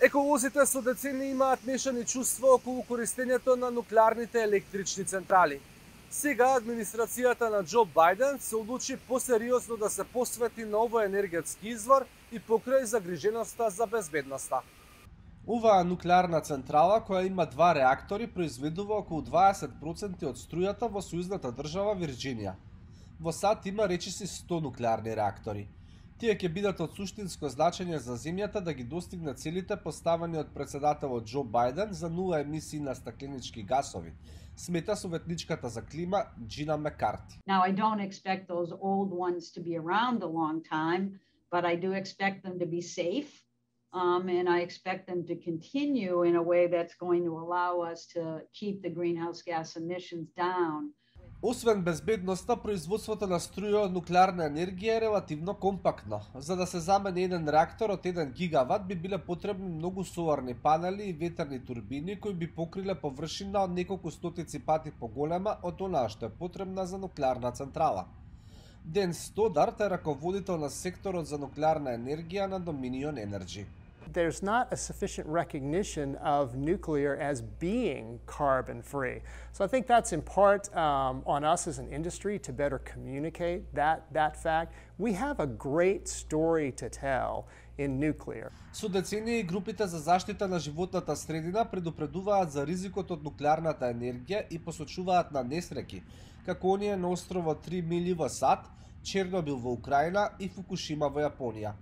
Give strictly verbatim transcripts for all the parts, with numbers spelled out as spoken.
Еколозите со децени имаат мешани чувства околу користењето на нуклеарните електрични централи. Сега администрацијата на Џо Бајден се одлучи посериозно да се посвети на овој енергетски извор и покрај загриженоста за безбедноста. Оваа нуклеарна централа, која има два реактори, произведува околу дваесет проценти од струјата во сојузната држава Вирџинија. Во САД има речиси сто нуклеарни реактори. Тие ќе бидат од суштинско значење за земјата да ги достигне целите поставени од председателот Џо Бајден за нула емисии на стакленички гасови, смета советничката за клима Джина Мекарти. Now I don't expect those old ones to be around a long time, but I do expect them to be safe. Um, and I expect them to continue in a way that's going to allow us to keep the greenhouse gas emissions down. Освен безбедноста, производството на струја од нуклеарна енергија е релативно компактно. За да се замени еден реактор од еден гигават би биле потребни многу соларни панели и ветерни турбини кои би покриле површина од неколку стотици пати поголема од онаа што е потребна за нуклеарна централа. Ден Стодарт е раководител на секторот за нуклеарна енергија на Dominion Energy. There's not a sufficient recognition of nuclear as being carbon free. So I think that's in part um, on us as an industry to better communicate that, that fact. We have a great story to tell in nuclear. Со децении групите за заштита на животната средина предупредуваат за ризикот од нуклеарната енергија и посочуваат на несреќи, како оние на островот Три мили во САД, Чернобил во Украина и Фукушима во Јапонија.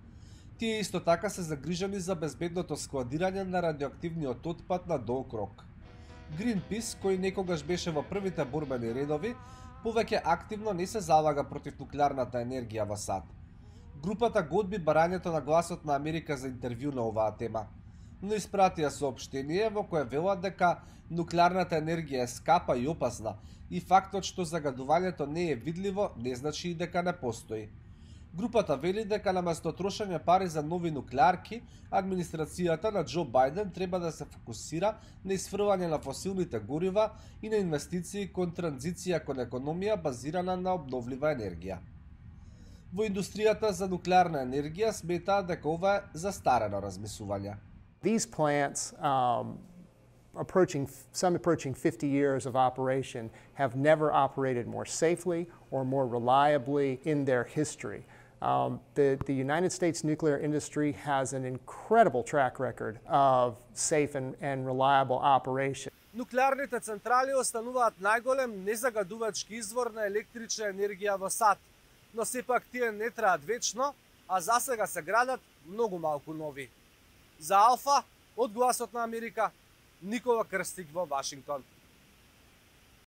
Тие исто така се загрижени за безбедното складирање на радиоактивниот отпад на долг рок. Greenpeace, кој некогаш беше во првите борбени редови, повеќе активно не се залага против нуклеарната енергија во САД. Групата го одби барањето на гласот на Америка за интервју на оваа тема, но испратија соопштение во кое велат дека нуклеарната енергија е скапа и опасна и фактот што загадувањето не е видливо не значи и дека не постои. Групата вели дека наместо трошење пари за нови нуклеарки, администрацијата на Џо Бајден треба да се фокусира на исфрлање на фосилните горива и на инвестиции кон транзиција кон економија базирана на обновлива енергија. Во индустријата за нуклеарна енергија сметаат дека ова е застарено размислување. These plants um, approaching some approaching fifty years of operation have never operated more safely or more reliably in their history. Um, the, the United States nuclear industry has an incredible track record of safe and, and reliable operation. Нуклеарните централи остануваат најголем незагадувачки извор на електрична енергија во САД, но сепак тие не траат вечно, а засега се градат многу малку нови. За Алфа, од Гласот на Америка, Никола Крстик во Вашингтон.